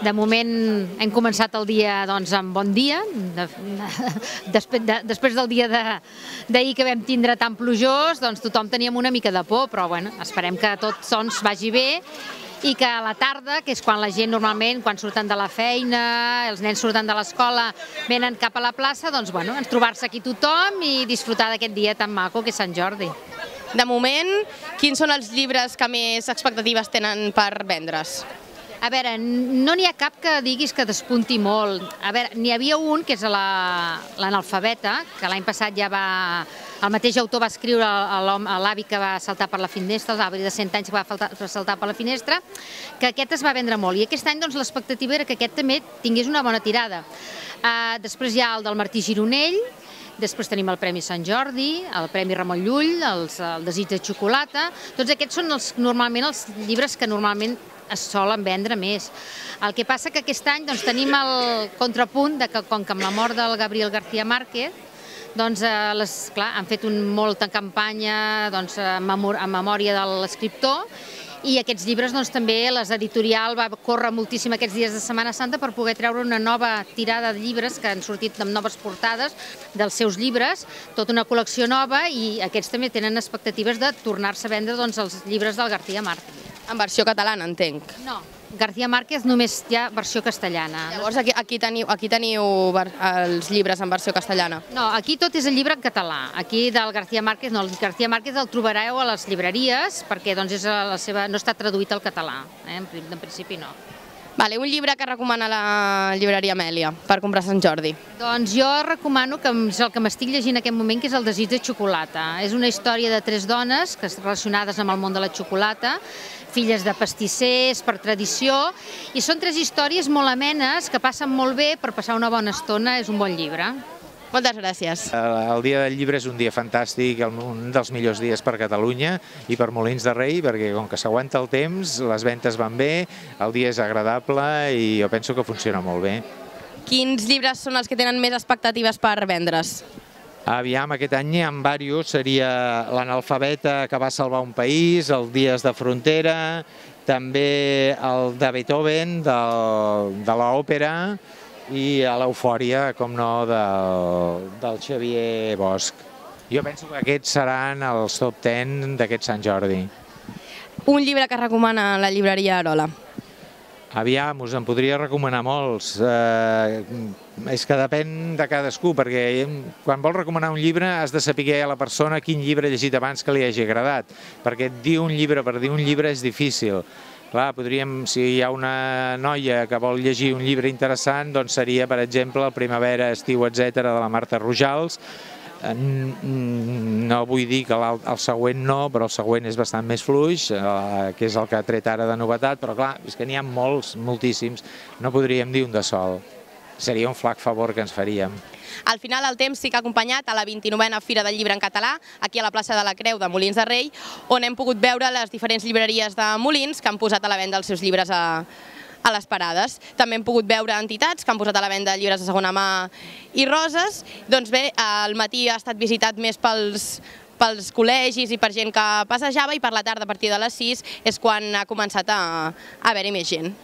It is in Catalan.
De moment hem començat el dia amb bon dia, després del dia d'ahir que vam tindre tan plujós, tothom teníem una mica de por, però esperem que tot vagi bé i que a la tarda, que és quan la gent normalment, quan surten de la feina, els nens surten de l'escola, venen cap a la plaça, trobar-se aquí tothom i disfrutar d'aquest dia tan maco que és Sant Jordi. De moment, quins són els llibres que més expectatives tenen per vendre's? A veure, no n'hi ha cap que diguis que despunti molt. A veure, n'hi havia un, que és l'Analfabeta, que l'any passat ja el mateix autor va escriure a l'avi que va saltar per la finestra, l'avi de 100 anys que va saltar per la finestra, que aquest es va vendre molt. I aquest any l'expectativa era que aquest també tingués una bona tirada. Després hi ha el del Martí Gironell, després tenim el Premi Sant Jordi, el Premi Ramon Llull, el Desig de xocolata. Tots aquests són normalment els llibres que normalment es solen vendre més. El que passa que aquest any tenim el contrapunt que com que amb la mort del Gabriel García Márquez han fet molta campanya en memòria de l'escriptor i aquests llibres també l'editorial va córrer moltíssim aquests dies de Setmana Santa per poder treure una nova tirada de llibres que han sortit amb noves portades dels seus llibres, tota una col·lecció nova, i aquests també tenen expectatives de tornar-se a vendre els llibres del García Márquez. En versió catalana, entenc. No, García Márquez només hi ha versió castellana. Llavors aquí teniu els llibres en versió castellana? No, aquí tot és el llibre en català. Aquí del García Márquez no, el García Márquez el trobareu a les llibreries perquè no està traduït al català, en principi no. Un llibre que recomana la llibreria Amèlia per comprar a Sant Jordi? Doncs jo recomano, que és el que m'estic llegint en aquest moment, que és el Desig de xocolata. És una història de 3 dones relacionades amb el món de la xocolata, filles de pastissers, per tradició, i són 3 històries molt amenes, que passen molt bé per passar una bona estona. És un bon llibre. Moltes gràcies. El Dia del Llibre és un dia fantàstic, un dels millors dies per Catalunya i per Molins de Rei, perquè com que s'aguanta el temps, les ventes van bé, el dia és agradable i jo penso que funciona molt bé. Quins llibres són els que tenen més expectatives per vendre's? Aviam, aquest any n'hi ha diversos, seria l'Analfabeta que va salvar un país, el Dies de Frontera, també el de Beethoven, de l'òpera, i a l'Eufòria, com no, del Xavier Bosch. Jo penso que aquests seran els top 10 d'aquest Sant Jordi. Un llibre que recomana la llibreria Arola? Aviam, us en podria recomanar molts. És que depèn de cadascú, perquè quan vols recomanar un llibre has de saber a la persona quin llibre ha llegit abans que li hagi agradat, perquè dir un llibre per dir un llibre és difícil. Clar, si hi ha una noia que vol llegir un llibre interessant, doncs seria, per exemple, el Primavera, Estiu, etc., de la Marta Rojals. No vull dir que el següent no, però el següent és bastant més fluix, que és el que ha tret ara de novetat, però clar, és que n'hi ha molts, moltíssims, no podríem dir un de sol. Seria un flac favor que ens faríem. Al final el temps sí que ha acompanyat a la 29a Fira del Llibre en Català, aquí a la plaça de la Creu de Molins de Rei, on hem pogut veure les diferents llibreries de Molins que han posat a la venda els seus llibres a les parades. També hem pogut veure entitats que han posat a la venda llibres de segona mà i roses. Doncs bé, al matí ha estat visitat més pels col·legis i per gent que passejava, i per la tarda, a partir de les 6, és quan ha començat a haver-hi més gent.